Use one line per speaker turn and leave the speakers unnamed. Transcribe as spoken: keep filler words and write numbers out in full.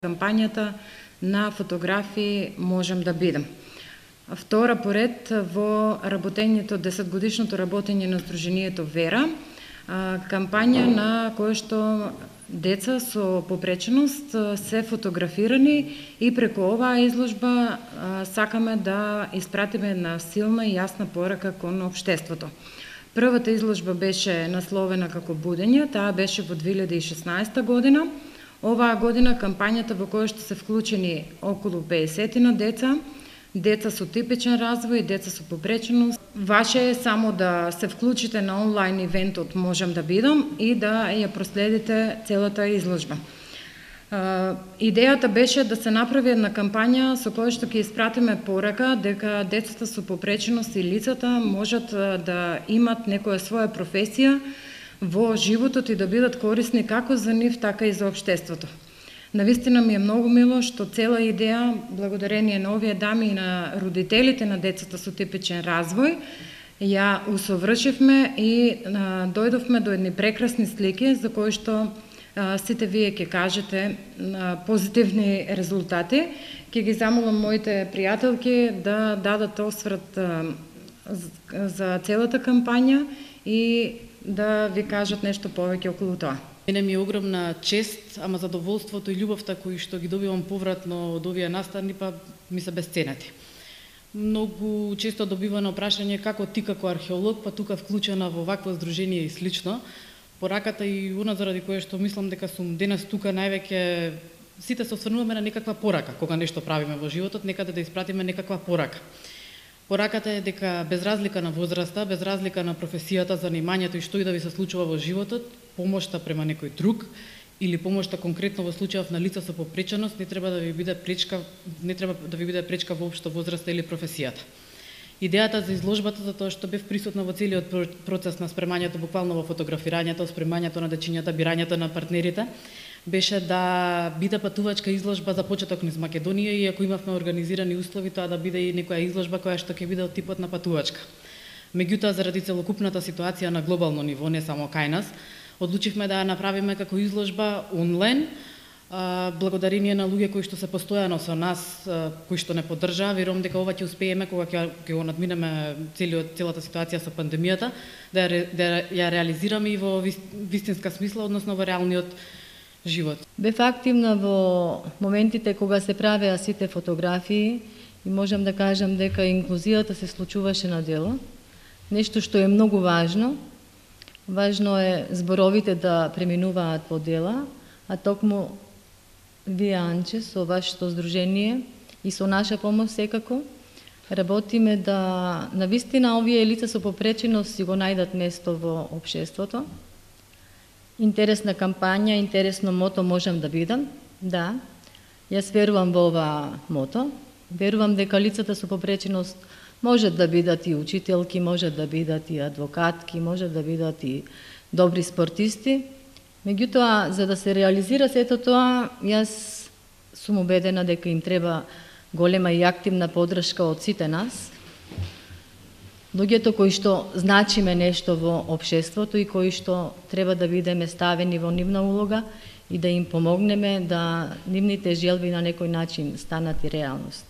кампањата на фотографии можам да бидам. Втора поред во работењето, десетгодишното работење на Сдруженијето Вера, кампања на која што деца со попреченост се фотографирани и преку оваа изложба сакаме да испратиме една силна и јасна порака кон општеството. Првата изложба беше насловена како Будење, таа беше во две илјади и шеснаесета година. Оваа година кампањата во која што се вклучени околу педесетина деца, деца со типичен развој, деца со попреченост. Ваше е само да се вклучите на онлайн ивентот Можам да бидам и да ја проследите целата изложба. Идејата беше да се направи една кампања со која што ќе испратиме порака дека децата со попреченост и лицата можат да имат некоја своја професија во животот и да бидат корисни како за нив, така и за општеството. Навистина ми е многу мило што цела идеја, благодарение на овие дами и на родителите на децата со типичен развој, ја усовршивме и а, дојдовме до едни прекрасни слики за кои што а, сите вие ќе кажете а, позитивни резултати. Ќе ги замолам моите пријателки да дадат осврт а, за целата кампања и да ви кажат нешто повеќе околу тоа.
Мене ми е огромна чест, ама задоволството и љубовта кои што ги добивам повратно од овие настани, па ми се бесценати. Многу често добивано прашање како ти како археолог, па тука вклучена во вакво здружение и слично. Пораката и она заради кое што мислам дека сум денес тука највеќе сите се осврнуваме на некаква порака, кога нешто правиме во животот, некаде да испратиме некаква порака. Пораката е дека без разлика на возраста, без разлика на професијата, занимањето и што и да ви се случува во животот, помошта према некој друг или помошта конкретно во случајов на лица со попреченост не треба да ви биде пречка, не треба да ви биде пречка воопшто возраста или професијата. Идејата за изложбата, за тоа што бев присутна во целиот процес на спремањето, буквално во фотографирањето, спремањето на дечињата, бирањето на партнерите, беше да биде патувачка изложба за почеток низ Македонија и ако имавме организирани услови, тоа да биде и некоја изложба која што ќе биде од типот на патувачка. Меѓутоа, заради целокупната ситуација на глобално ниво, не само кај нас, одлучивме да ја направиме како изложба онлайн, благодарение на луѓе кои што се постојано со нас, кои што не поддржаа. Верувам дека ова ќе успееме кога ќе ќе го надминеме целиот целата ситуација со пандемијата, да ја, да ја реализираме и во вистинска смисла, односно во реалниот живот.
Бев активна во моментите кога се правеа сите фотографии и можам да кажам дека инклузијата се случуваше на дело. Нешто што е многу важно. Важно е зборовите да преминуваат во дела, а токму вие, Анче, со вашето здружение и со наша помош секако, работиме да навистина овие лица со попреченост си го најдат место во општеството. Интересна кампања, интересно мото Можам да бидам. Да, јас верувам во ова мото. Верувам дека лицата со попреченост можат да бидат и учителки, можат да бидат и адвокатки, можат да бидат и добри спортисти. Меѓутоа, за да се реализира сето тоа, јас сум убедена дека им треба голема и активна поддршка од сите нас. Луѓето кои што значиме нешто во општеството и кои што треба да бидеме ставени во нивна улога и да им помогнеме да нивните желби на некој начин станат и реалност.